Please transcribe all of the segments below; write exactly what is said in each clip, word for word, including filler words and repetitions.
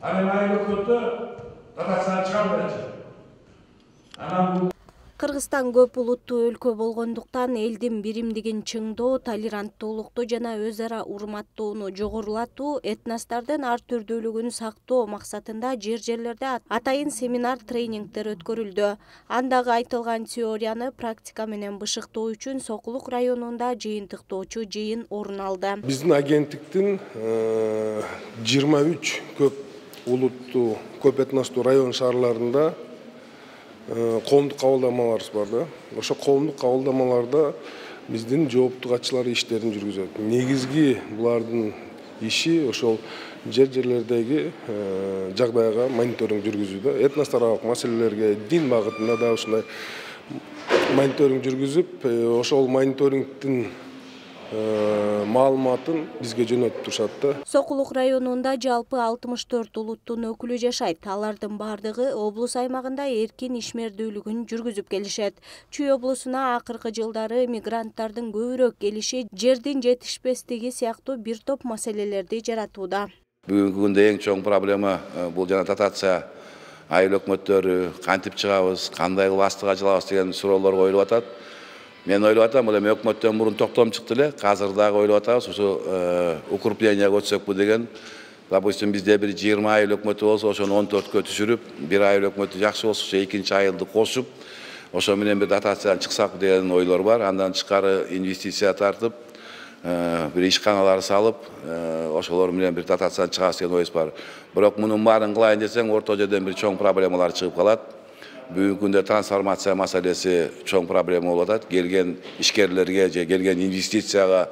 Анан айыл өкмөтү татарстан чыгам. Анан Кыргызстан көп улуттуу өлкө болгондуктан элдин биримдигин чыңдоо, толеранттуулукту жана өз ара урматтоону жогорулатуу, этностордун ар түрдүүлүгүн сактоо максатында жер-жерлерде атайын семинар, тренингдер өткөрүлдү. Андагы айтылган теорияны практика менен бышыктоо үчүн Сокулук районунда жыйынтыктоочу жыйын орун алды. Биздин агенттиктин жыйырма үч көп улуттуу, көп этностуу район шаарларында коомдук кабылдамаларыбыз бар да. Ошо коомдук кабылдамаларда биздин жооптуу катчылар иштерин жүргүзөт. Негизги булардын иши ошол жер-жерлердеги жагдайга мониторинг жүргүзүүдө, этностор аралык маселелерге, дин багытында да ушундай мониторинг жүргүзүп, ошол мониторингдин маалыматын бизге жөнөтүп турушат да. Сокулук районунда жалпы алтымыш төрт улуттун өкүлү жашайт. Алардын бардыгы облус аймагында эркин ишмердүүлүгүн жүргүзүп келишет. Чүй облусуна акыркы жылдары мигранттардын көбүрөөк келиши жердин жетишпестиги сыяктуу бир топ маселелерди жаратууда. Бүгүнкү күндө эң чоң проблема бул жана дотация. Айыл өкмөттөрү кантип чыгабыз, кандай кылып астыга жылабыз деген суроолор коюлуп атат. Мен ойлоп атам, бул эми өкмөттөн мурун токтом чыкты эле. Азыр дагы ойлоп атабыз, ушу укреплениеге өтсөкпү деген. Допустим, бизде бир жыйырма айыл өкмөтү болсо, ошону он төрткө түшүрүп, бир айыл өкмөтү жакшы болсо, ошо экинчи айылды кошуп, ошо менен бир дотациядан чыксак деген ойлор бар. Андан тышкары инвестиция тартып, бир ишканалар салып, ошолор менен бир дотациядан чыгабыз деген оюбуз бар. Бирок мунун баарын кылайын десең, орто жерден бир чоң проблемалар чыгып калат. Бүгүнкү күндө трансформация маселеси чоң проблема болуп атат. Келген ишкерлерге же келген инвестицияга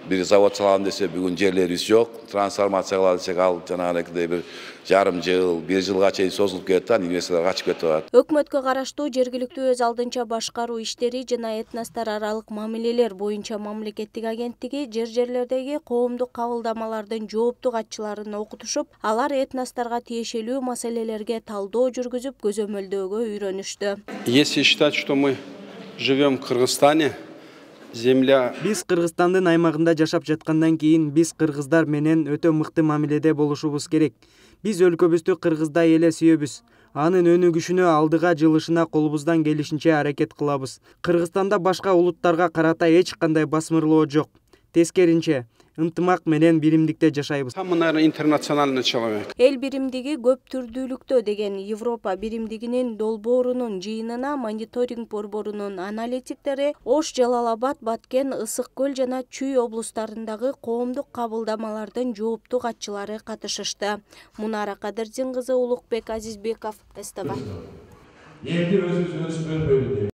бир завод салам десе, бүгүн жерлерибиз жок. Трансформация кылалы десек, ал жанагындай бир жарым жыл, бир жылга чейин созулуп кетет да, инвесторлор качып кетип атат. Өкмөткө караштуу жергиликтүү өз алдынча башкаруу иштери жана этностор аралык мамилелер боюнча мамлекеттик агенттиги жер-жерлердеги коомдук кабылдамалардын жооптуу катчыларын окутушуп, алар этносторго тиешелүү маселелерге талдоо жүргүзүп, көзөмөлдөөгө үйрөнүштү. Если считать, что мы живем в Кыргызстане, земля... Биз Кыргызстандын аймагында жашап жаткандан кийин биз кыргыздар менен өтө мыкты мамиледе болушубуз керек. Биз өлкөбүздү кыргыздай эле сүйөбүз. Анын өнүгүшүнө, алдыга жылышына колубуздан келишинче аракет кылабыз. Кыргызстанда башка улуттарга карата эч кандай басмырлоо жок. Тескеринче, ынтымак менен биримдикте жашайбыз. Самый, наверное, интернациональный человек. Эл биримдиги көп түрдүүлүктө деген Европа биримдигинин долбоорунун жыйынына мониторинг борборунун аналитиктери Ош, Жалал-Абад, Баткен, Ысык көл жана Чүй облустарындагы коомдук кабылдамалардын жооптуу катчылары катышышты. Мунара Кадырдин кызы, Улукбек Азизбеков, СТВ.